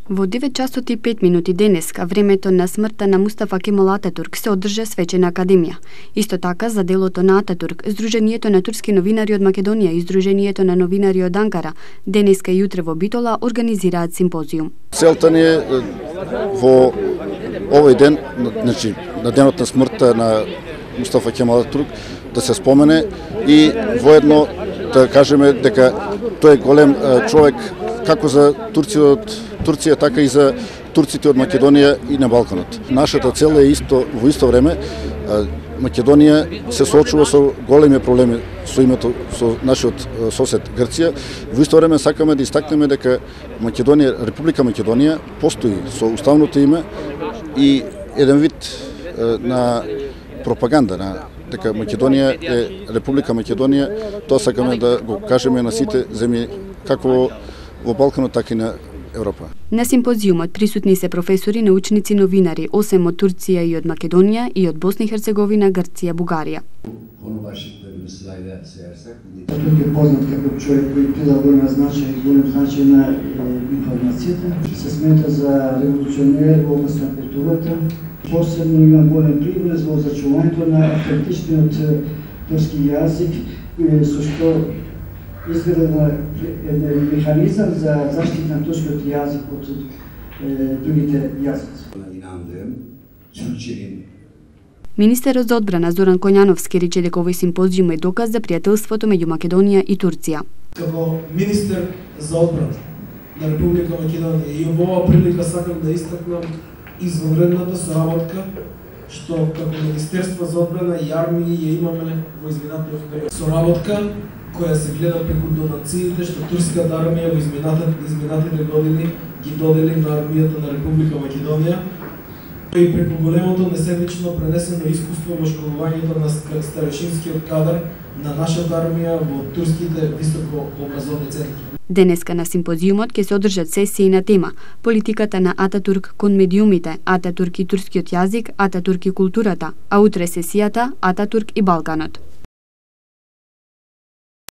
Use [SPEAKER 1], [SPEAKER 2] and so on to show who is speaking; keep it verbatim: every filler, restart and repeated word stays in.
[SPEAKER 1] Во девет часот и пет минути денеска, времето на смртта на Мустафа Кемал Ататурк, се одржа свечена академија. Исто така, за делото на Ататурк, Сдруженијето на турски новинари од Македонија и Сдруженијето на новинари од Анкара денеска и утре во Битола организираат симпозиум.
[SPEAKER 2] Целта ни е во овој ден, значи на денот на смртта на Мустафа Кемал Ататурк, да се спомене и воедно да кажеме дека тој е голем човек како за Турција од Турција, така и за турците од Македонија и на Балканот. Нашата цел е исто во исто време Македонија се соочува со големи проблеми со името со нашиот сосед Грција. Во исто време сакаме да истакнеме дека Македонија, Република Македонија постои со уставното име и еден вид на пропаганда на дека Македонија е Република Македонија, тоа сакаме да го кажеме на сите земји како во Балканот, така и на Европа.
[SPEAKER 1] На симпозиумот присутни се професори, научници, новинари, осем од Турција и од Македонија и од Босна и Херцеговина, Грција, Бугарија.
[SPEAKER 3] Ататурк е познат како човек кој придал голема значај и голем значај на информацијата. Се смета за револуционер во област на културата. Посебно имам голем привлез во зачувањето на автентичниот турски јазик, со што изгледа еден механизам за заштита на турскиот јазик од другите јазици.
[SPEAKER 1] Министерот за одбрана Зоран Коњановски рече дека овој симпозиум е доказ за пријателството меѓу Македонија и Турција.
[SPEAKER 4] Како министер за одбрана на Република Македонија и во оваа прилика сакам да истакнам извонредната соработка што како Министерство за одбрана и армија ја имаме во изминатиот период. Соработка која се гледа преку донациите што турската армија во изминатите години ги додели на армијата на Република Македонија и преку големото несебично пренесено искуство во школувањето на старешинскиот кадар на нашата армија во турските високо образовни центри.
[SPEAKER 1] Денеска на симпозиумот ќе се одржат сесии на тема политиката на Ататурк кон медиумите, Ататурк и турскиот јазик, Ататурк и културата, а утре сесијата Ататурк и Балканот.